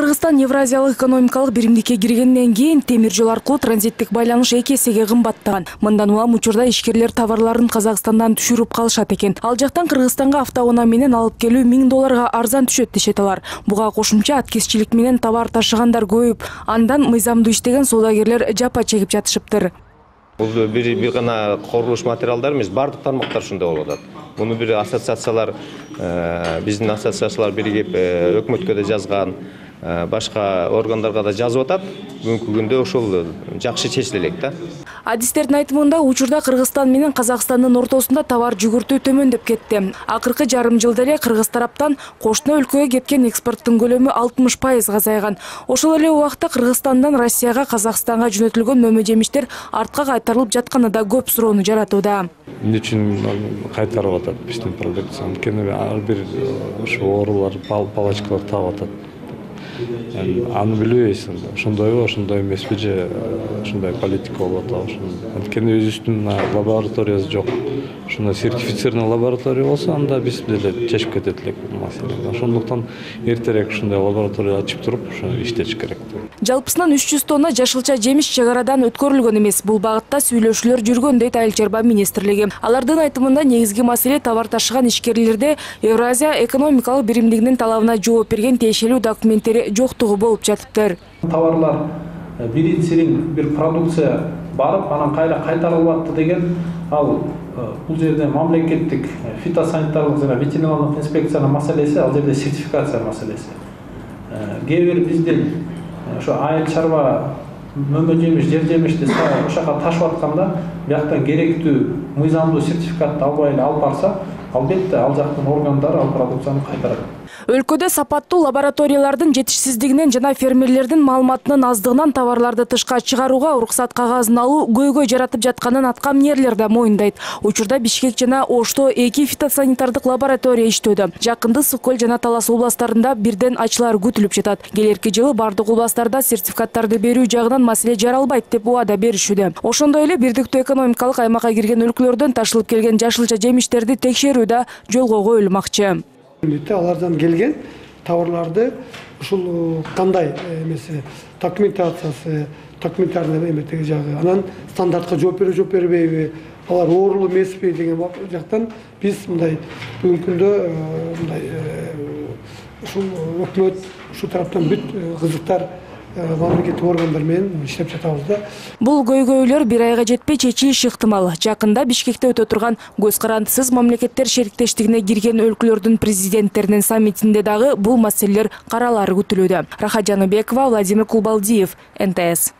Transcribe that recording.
Кыргызстан Евразиялык экономикалык биримдикке киргенден кийин темир жол аркылуу транзиттик байланыш 2 эсеге кымбаттаган. Мындан улам учурда ишкерлер товарларын Казакстандан түшүрүп калышат экен. Ал жактан Кыргызстанга автоунаа менен алып келүү $1000 арзан түшөт дешет алар. Буга кошумча аткезчилик менен товар ташыгандар көбөйүп, андан мыйзамдуу иштеген соодагерлер жапа чегип жатышыптыр. Бул бир гана курулуш материалдар эмес, бардык тармактар ушундай болуп атат. Муну бир ассоциациялар, биздин ассоциациялар биригип өкмөткө да жазган, башка органдарга да жазып атат. Бүгүнкү күндө ошол жакшы чечиле элек да. Адистердин айтымында учурда Кыргызстан менен Казакстандын ортосунда товар жүгүртүү төмөндөп кетти. Акыркы жарым жылда эле Кыргыз тараптан кошуна өлкөгө кеткен экспорттун көлөмү 60% азайган. Ошол эле убакта Кыргызстандан Россияга, Казакстанга жөнөтүлгөн мөмө жемиштер артка кайтарылып жатканы да көп суроону жаратууда. Эмне үчүн кайтарып атат биздин продукцияны? Анткени ар бир ошо оорулар, палачкалар таап атат. Аны билбейбиз, ошондойбу, ошондой эмеспи же ошондой политика болуп атабы. Анткени өзүбүздүн лабораториябыз жок. Ушундай сертифицированный лаборатория болсо, анда биз деле чечип кетет элек маселени. Ошондуктан эртерээк ушундай лаборатория ачып туруп, ошо иштеш керек. Жалпысынан 300 тонна жашылча жемиш чек арадан өткөрүлгөн эмес. Бул багытта сүйлөшүүлөр жүргөн дейт Айыл чарба министрлиги. Алардын айтымында негизги маселе товар ташыган ишкерлерде Евразия экономикалык биримдигинин талабына жооп берген тиешелүү документтери жоктугу болуп жатыптыр. Товарлар биринчиден бир продукция барып, анан кайра кайтарылып атты деген ал бул жерде мамлекеттик фитосанитарлык жана ветеринарлык инспекциянын маселеси, ал жерде сертификация маселеси. Кээ бир биздин ошо айыл чарба мөмө жемиш, жер жемишти ошол жака ташып атканда, бияктан керектүү мыйзамдуу сертификатты албай эле алып барса, албетте ал жактын органдары ал продукцияны кайтарат. Өлкөдө сапаттуу лабораториялардын жетишсиздигинен жана фермерлердин маалыматынын аздыгынан товарларды тышка чыгарууга уруксат кагазын алуу көйгөй жаратып жатканын аткаминерлер да моюндайт. Учурда Бишкек жана Ошто 2 фитосанитардык лаборатория иштөөдө. Жакында Ысык Көл жана Талас областарында бирден ачылар күтүлүп жатат. Келерки жылы бардык областарда сертификаттарды берүү жагынан маселе жаралбайт деп убада беришүүдө. Ошондой эле бирдиктүү экономикалык аймакка кирген өлкөлөрдөн ташылып келген жашылча жемиштерди текшерүү да жолго коюлмакчы. Алардан келген товарларды ушул кандай эмеси документациясы, документарный эметеги жагы, анан стандартка жооп бербейби, алар оорулуу эмеспи деген жактан биз мындай бүгүнкү күндө мындай ушул өкмөт, ушул тараптан бүт кызыктар мамлекеттик органдар менен иштеп жатабыз да. Бул көйгөйлөр бир айга жетпей чечилиши ыктымал. Жакында Бишкекте өтө турган көз карандысыз мамлекеттер шериктештигине кирген өлкөлөрдүн президенттеринин саммитинде дагы бул маселелер каралары күтүлүүдө. Рахат Жаныбекова, Владимир Кулбалдиев, НТС.